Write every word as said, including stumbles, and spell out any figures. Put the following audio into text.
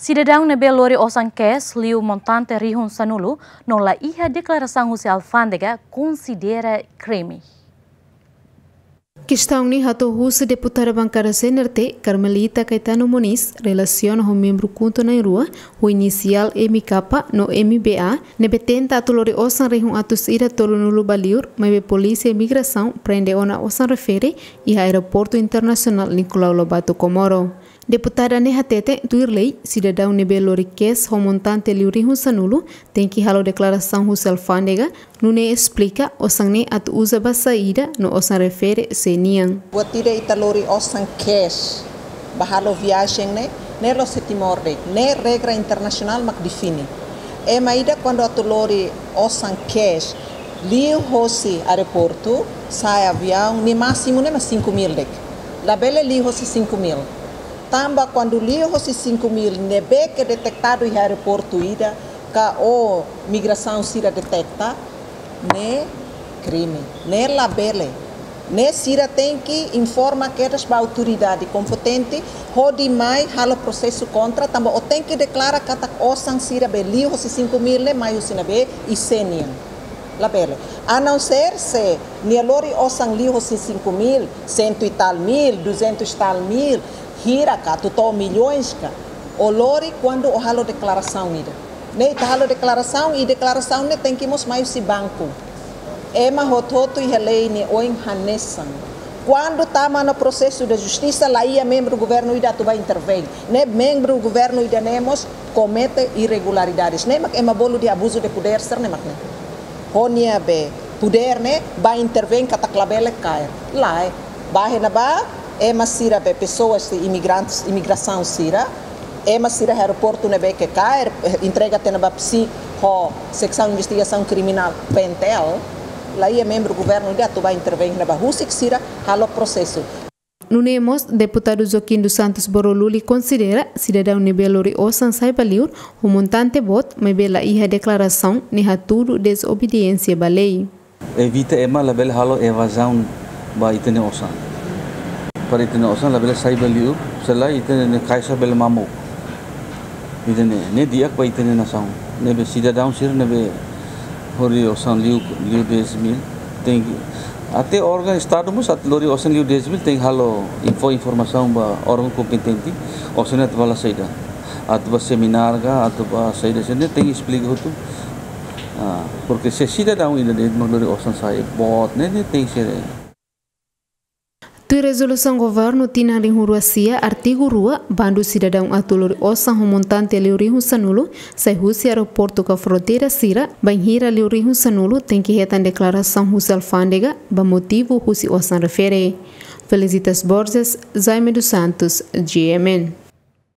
Sidadaun ne'ebé lori osan cash liu montante rihun sanulu no la iha deklarasaun husi alfándega konsidera krime. Kestaun ne'e hato'o husi deputada bankada C N R T, Carmelita Caetano Moniz, relasiona ho membru KHUNTO na'in-rua, ho inisiál M K no M B A, ne'ebé tenta atu lori osan rihun atus ida tolunulu ba liur, maibé Polísia Imigrasaun prende ona osan refere iha Aeroportu Internasionál Nicolau Lobato Comoro. Deputada ne'e hateten, tuir lei, sidadaun ne'ebé lori cash ho montante liu rihun sanulu tenke halo deklarasaun husi alfándega, nune'e esplika osan ne'e atu uza ba saida no osan refere sé nian. Buat ida ita lori osan cash ba halo viajen ne'e, ne'e la'ós iha Timor de'it, ne'e regra internasionál mak define. Ema ida kuandu atu lori osan cash liu hosi aeroportu, sa'e aviaun, nia másimu ne'e mak cinco mil de'it. Labele liu hosi cinco mil. Tanba kuandu liu hosi cinco mil ne'ebé ke detetadu iha aeroportu ida, ka imigrasaun sira deteta, ne'e krime, ne'e labele. Ne'e sira tenke informa kedas ba autoridade kompetente, hodi mai halo prosesu kontra, tanba ó tenke deklara katak osan sira be liu hosi cinco mil ne'e mai husi ne'ebé i sé nian. Labele. A não ser se nia lori osan liu hosi cinco mil, cento e tal mil, duzentos e tal mil, hira ka, atu to'o milhões ka, ó lori kuandu ó halo deklarasaun ida. Ne'e ita halo deklarasaun, i deklarasaun ne'e tenke mós mai husi banku. Ema hotu-hotu iha lei nia oin hanesan. Kuandu tama ona prosesu de justisa, la iha membru governu ida atu ba intervein. Ne'e membru governu ida ne'e mós komete irregularidades. Ne'e mak ema bolu de abuso de poder sira ne'e mak ne'e. Ho nia be poder ne'e ba intervein katak labele kaer. Lae, ba hena ba, ema sira be pessoas de imigrantes, imigrasaun sira, ema sira aeroportu ne'ebé ke kaer, eh, entrega tiha ona ba psi ho seksaun investigasaun kriminál, P N T L, la iha membru governu ida atu ba intervein ne'e ba husik sira halo prosesu. Nune'e mós, deputadu Joaquim dos Santos Boroluli konsidera sidadaun ne'ebé lori osan sai ba liur ho montante boot, maibé la iha deklarasaun ne'e hatudu dezobediénsia ba lei. Evita ema labele halo evazaun ba ita-nia osan. Para ita-nia osan labele sai ba liur, se lae ita-nia kaixa bele mamuk. Ida-ne'e, ne'e di'ak ba ita-nia nasaun. Ne'ebé sidadaun sira ne'ebé lori osan liu, liu dez mil, tenke, até órgaun Estadu mós atu lori osan liu dez mil, tenke halo info, informasaun ba órgaun kompetente, osan ne'e atu ba halo saida. Atu ba seminár ka, atu ba saida, saida, tenke esplika hotu. Ah, porque se sidadaun ida de'it mak lori osan sai boot, ne'e, ne'e tenke ser. Tuir rezolusaun governu tinan rihun rua sia, artigu rua, bandu sidadaun atu lori osan ho montante liu rihun sanulu, sai husi aeroportu ka fronteira sira, bainhira liu rihun sanulu, tenke hetan deklarasaun husi alfándega, ba motivu husi osan refere. Felicitas Borges, Jaime dos Santos, G M N.